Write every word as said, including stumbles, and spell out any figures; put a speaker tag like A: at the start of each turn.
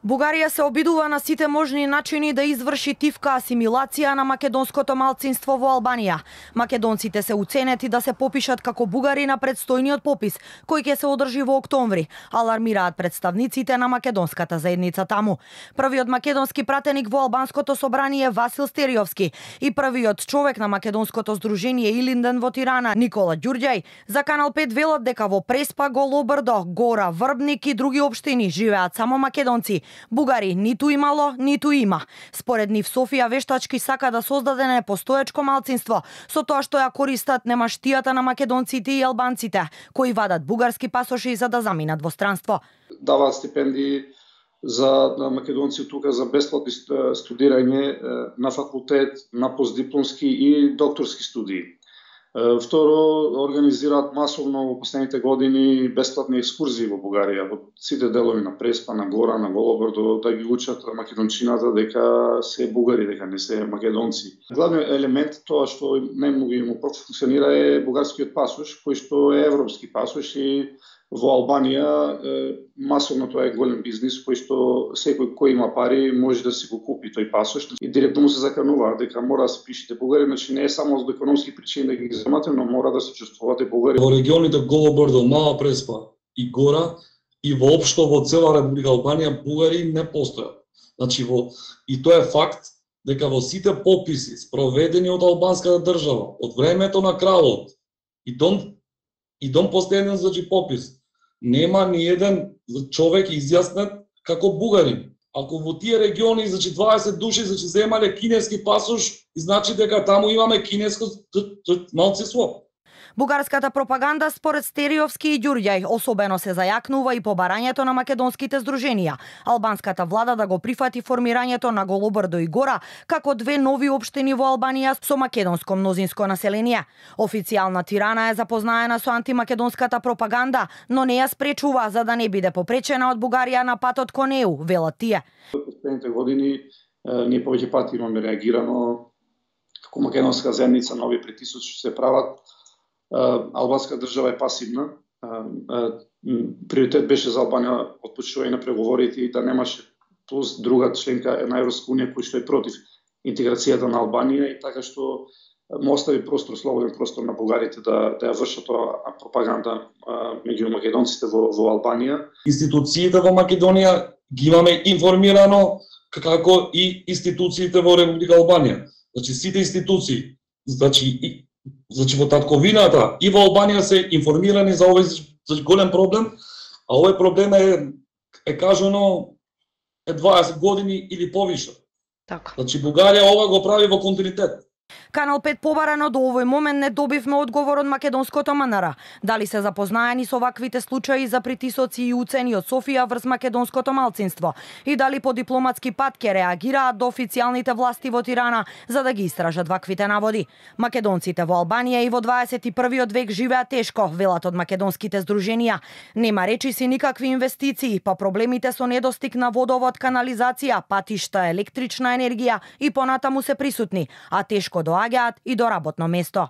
A: Бугарија се обидува на сите можни начини да изврши тивка асимилација на македонското малцинство во Албанија. Македонците се уценети да се попишат како бугари на предстојниот попис, кој ќе се одржи во октомври, алармираат представниците на македонската заедница таму. Првиот македонски пратеник во албанското собрание Васил Стериовски и првиот човек на македонското здружение Илинден во Тирана Никола Ѓурѓај за Канал пет велат дека во Преспа, Голобрдо, Гора, Врбник и други општини живеат само македонци. Бугари ниту имало, ниту има. Според нив Софија вештачки сака да создаде непостоечко малцинство, со тоа што ја користат немаштијата на македонците и албанците, кои вадат бугарски пасоши за да заминат во странство.
B: Даваат стипендии за македонци тука за бесплатни студирање на факултет, на постдипломски и докторски студии. Второ, организираат масовно во последните години бесплатни екскурзии во Бугарија, во сите делови на Преспа, на Гора, на Голобрдо, да ги учат македончината дека се бугари, дека не се македонци. Главниот елемент тоа што најмногу им функционира е бугарскиот пасош, кој што е европски пасош и во Албанија масовно тоа е голем бизнис кој што секој кој има пари може да си го купи тој пасош и директно му се заканува дека мора да се пишете бугари, значи не е само за економски причини да ги земате, но мора да се чувствувате бугари.
C: Во регионите Голобрдо, Мала Преспа и Гора и воопшто во цела Република Албанија бугари не постојат. Значи во и тоа е факт дека во сите пописи спроведени од албанската држава од времето на кралот и дон и дон последен значи попис нема ни еден човек изјаснет како бугарин. Ако во тие региони значи дваесет души значи земале кинески пасош, значи дека таму имаме кинеско малцинство.
A: Бугарската пропаганда според Стериовски и Ѓурѓај особено се зајакнува и по барањето на македонските здруженија. Албанската влада да го прифати формирањето на Голобрдо и Гора како две нови општини во Албанија со македонско мнозинско население. Официјална Тирана е запознаена со антимакедонската пропаганда, но не ја спречува за да не биде попречена од Бугарија на патот кон Е У, велат тие.
B: Во последните години ние повеќе пати имаме реагирано како македонска заедница, нови притисоци се прават. Албанска држава е пасивна. Приоритет беше за Албанија отпочнување на преговорите и да немаше плюс друга членка на Европска унија кој што е против интеграцијата на Албанија и така што му остави простор, слободен простор на бугарите да да ја вршат тоа пропаганда меѓу македонците во во Албанија.
C: Институциите во Македонија ги имаме информирано како и институциите во Република Албанија. Значи сите институции, значи и Значи во татковината и во Албанија се информирани за овој за голем проблем, а овој проблем е е кажано е дваесет години или повише.
A: Така.
C: Значи Бугарија ова го прави во континуитет.
A: Канал пет побарано до овој момент не добивме одговор од македонското М Н Р. Дали се запознаени со ваквите случаи за притисоци и уцени од Софија врз македонското малцинство и дали по дипломатски пат ќе реагираат до официјалните власти во Тирана за да ги истражат ваквите наводи. Македонците во Албанија и во дваесет и првиот век живеат тешко, велат од македонските здруженија. Нема речиси никакви инвестиции, па проблемите со недостиг на водовод, канализација, патишта, електрична енергија и понатаму се присутни, а тешко доаѓаат и до работно место.